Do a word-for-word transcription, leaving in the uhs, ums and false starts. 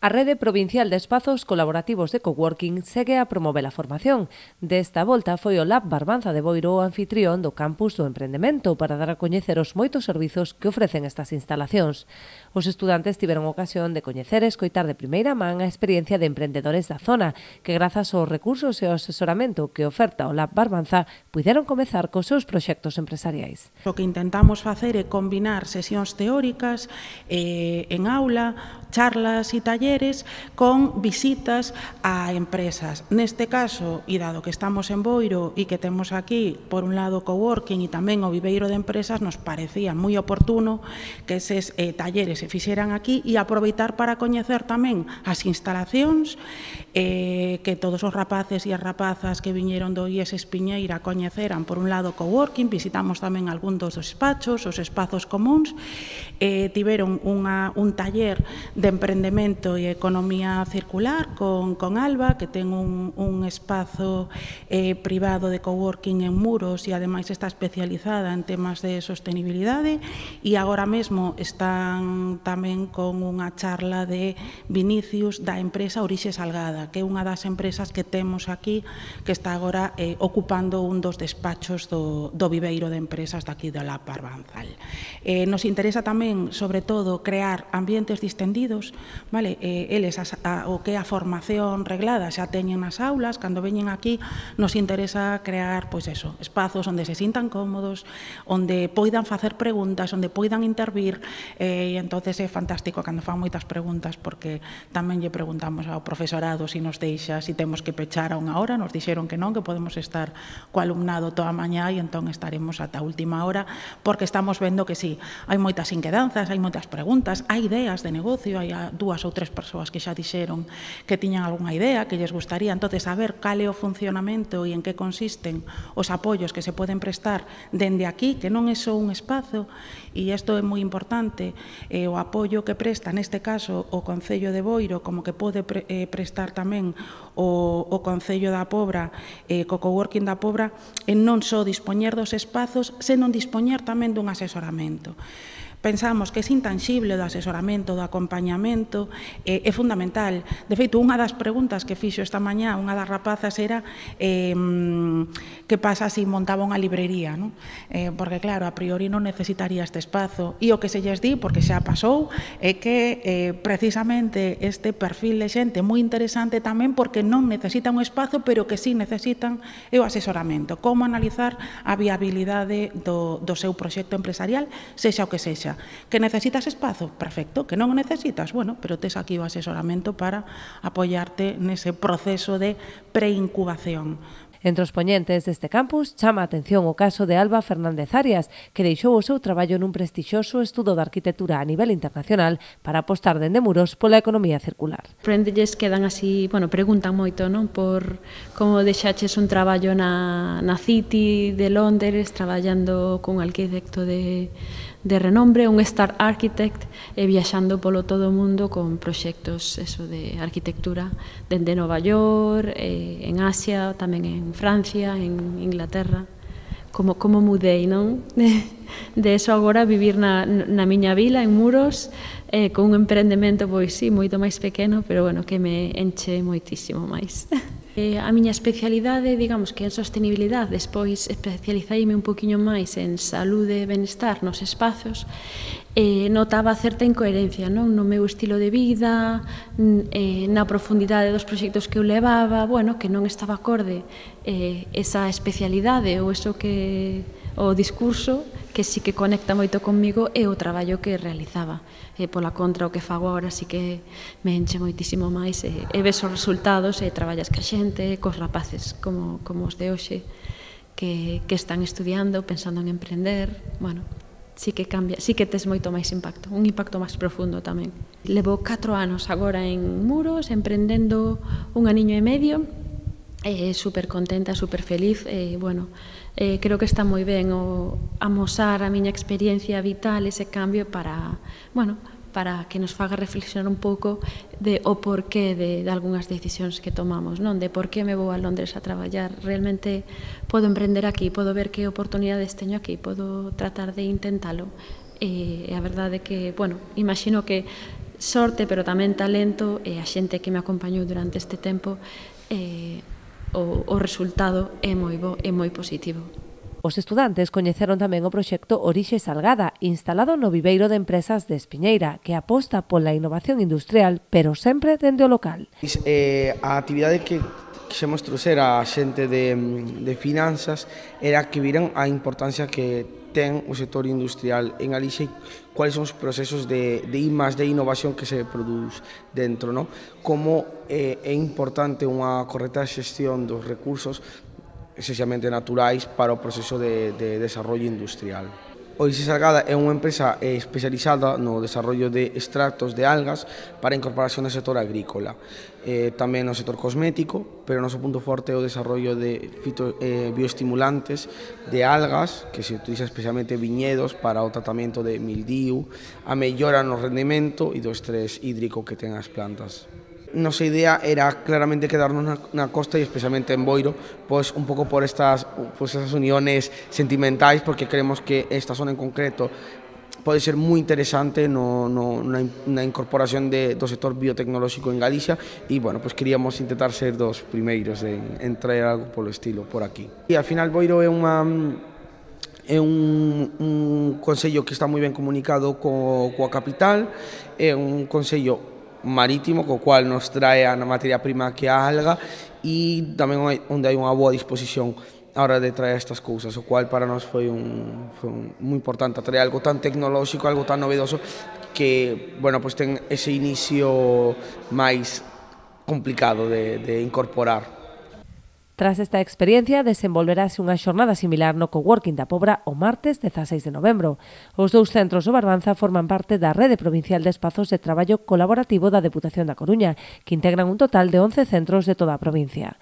A Rede Provincial de Espazos Colaborativos de Coworking segue a promover a formación. Desta volta foi o Lab Barbanza de Boiro o anfitrión do Campus do Emprendemento para dar a coñecer os moitos servizos que ofrecen estas instalacións. Os estudantes tiveron ocasión de coñecer e escoitar de primeira man a experiencia de emprendedores da zona, que grazas aos recursos e ao asesoramento que oferta o Lab Barbanza, puideron comezar cos seus proxectos empresariais. O que intentamos facer é combinar sesións teóricas eh, en aula, charlas e talleres con visitas a empresas. Neste caso, e dado que estamos en Boiro e que temos aquí, por un lado, coworking e tamén o viveiro de empresas, nos parecía moi oportuno que eses eh, talleres se fixeran aquí e aproveitar para coñecer tamén as instalacións eh, que todos os rapaces e as rapazas que viñeron do I E S Espiñeira coñeceran, por un lado, coworking, visitamos tamén algún dos despachos, os espazos comuns, eh, tiveron unha, un taller de emprendemento e economía circular con, con Alba, que ten un, un espazo eh, privado de coworking en Muros e ademais está especializada en temas de sostenibilidade, e agora mesmo están tamén con unha charla de Vinicius da empresa Orixe Salgada, que é unha das empresas que temos aquí que está agora eh, ocupando un dos despachos do, do viveiro de empresas daqui do Lab Barbanza. Eh, nos interesa tamén, sobre todo, crear ambientes distendidos. Vale, eh, eles a, a, o que é a formación reglada xa teñen nas aulas, cando veñen aquí nos interesa crear, pois eso, espazos onde se sintan cómodos, onde poidan facer preguntas, onde poidan intervir, eh, e entonces é fantástico cando fan moitas preguntas, porque tamén lle preguntamos ao profesorado se nos deixa, se temos que pechar a unha hora, nos dixeron que non, que podemos estar co alumnado toda a mañá e entón estaremos ata a última hora, porque estamos vendo que sí, hai moitas inquedanzas, hai moitas preguntas, hai ideas de negocio, hai dúas ou tres persoas que xa dixeron que tiñan algunha idea, que lles gustaría, entonces saber cal é o funcionamento e en que consisten os apoios que se poden prestar dende aquí, que non é só un espazo, e isto é moi importante, eh, o apoio que presta, neste caso, o Concello de Boiro, como que pode pre, eh, prestar tamén o, o Concello da Pobra, eh, co coworking da Pobra, en non só dispoñer dos espazos, senón dispoñer tamén dun asesoramento. Pensamos que ese intanxible do asesoramento, do acompañamento, eh, é fundamental. De feito, unha das preguntas que fixo esta mañá unha das rapazas era eh, que pasa se montaba unha librería, non? Eh, porque, claro, a priori non necesitaría este espazo. E o que se lles di, porque xa pasou, é que eh, precisamente este perfil de xente moi interesante tamén porque non necesita un espazo, pero que sí necesitan é o asesoramento. Como analizar a viabilidade do, do seu proxecto empresarial, sexa o que sexa. Que necesitas espazo? Perfecto. Que non o necesitas? Bueno, pero tes aquí o asesoramento para apoiarte nese proceso de preincubación. Entre os poñentes deste campus chama a atención o caso de Alba Fernández Arias, que deixou o seu traballo nun prestixioso estudo de arquitectura a nivel internacional para apostar dende Muros pola economía circular. Prendelles quedan así, bueno, preguntan moito, non? Por como deixaches un traballo na, na City de Londres, traballando con arquitecto de de renombre, un star architect, e viaxando polo todo o mundo con proxectos eso de arquitectura dende Nova York, eh, en Asia, tamén en Francia, en Inglaterra. Como, como mudei, non? De, de eso agora vivir na, na miña vila, en Muros, eh, con un emprendemento, pois sí, moito máis pequeno, pero bueno, que me enche moitísimo máis. Eh, a miña especialidade, digamos que en sostenibilidade, despois especializaíme un poquinho máis en saúde e benestar nos espazos, eh, notaba certa incoherencia, non? No meu estilo de vida, eh, na profundidade dos proxectos que eu levaba, bueno, que non estaba acorde eh, esa especialidade ou eso que o discurso que sí que conecta moito comigo é o traballo que realizaba. E pola contra o que fago agora sí que me enche moitísimo máis e, e ves os resultados e traballas ca xente, cos rapaces como, como os de hoxe que, que están estudiando, pensando en emprender, bueno, sí que cambia, sí que tes moito máis impacto, un impacto máis profundo tamén. Levo catro anos agora en Muros, emprendendo un aniño e medio, eh, super contenta, super feliz, e, bueno, eh, creo que está moi ben o amosar a miña experiencia vital, ese cambio para, bueno, para que nos faga reflexionar un pouco de o porqué de, de algunhas decisións que tomamos, non? De por que me vou a Londres a traballar, realmente podo emprender aquí, podo ver que oportunidades teño aquí, podo tratar de intentalo, e a verdade é que, bueno, imagino que sorte, pero tamén talento, e a xente que me acompañou durante este tempo, eh, o, o resultado é moi bo, é moi positivo. Os estudantes coñeceron tamén o proxecto Orixe Salgada, instalado no viveiro de empresas de Espiñeira, que aposta pola innovación industrial, pero sempre dende o local. Eh, a actividade que quixemos trouxer a xente de, de finanzas era que viran a importancia que ten o sector industrial en Galicia e cuáles son os procesos de, de I más D, de innovación que se produz dentro, ¿no? Como eh, é importante unha correcta xestión dos recursos esencialmente naturais para o proceso de, de desarrollo industrial. Orixe Salgada é unha empresa especializada no desarrollo de extractos de algas para incorporación no sector agrícola, eh, tamén no sector cosmético, pero o noso punto forte é o desarrollo de fito, eh, bioestimulantes de algas, que se utiliza especialmente viñedos para o tratamento de mildiu, a mellora no rendimento e do estrés hídrico que ten as plantas. Nosa idea era claramente quedarnos na, na costa e especialmente en Boiro, pois un pouco por estas, pois estas uniones sentimentais, porque creemos que esta zona en concreto pode ser moi interesante no, no, na, na incorporación de, do sector biotecnolóxico en Galicia e, bueno, pois queríamos intentar ser dos primeiros en, en traer algo polo estilo por aquí. E, ao final, Boiro é unha... é un, un concello que está moi ben comunicado co, coa capital, é un concello marítimo, co cual nos trae a materia prima que a alga e tamén onde hai unha boa disposición a hora de traer estas cousas, o cual para nós foi un, foi un, moi importante traer algo tan tecnolóxico, algo tan novedoso que, bueno, pues ten ese inicio máis complicado de, de incorporar. Tras esta experiencia, desenvolverase unha xornada similar no Coworking da Pobra o martes dezaseis de novembro. Os dous centros do Barbanza forman parte da Rede Provincial de Espazos de Traballo Colaborativo da Deputación da Coruña, que integran un total de once centros de toda a provincia.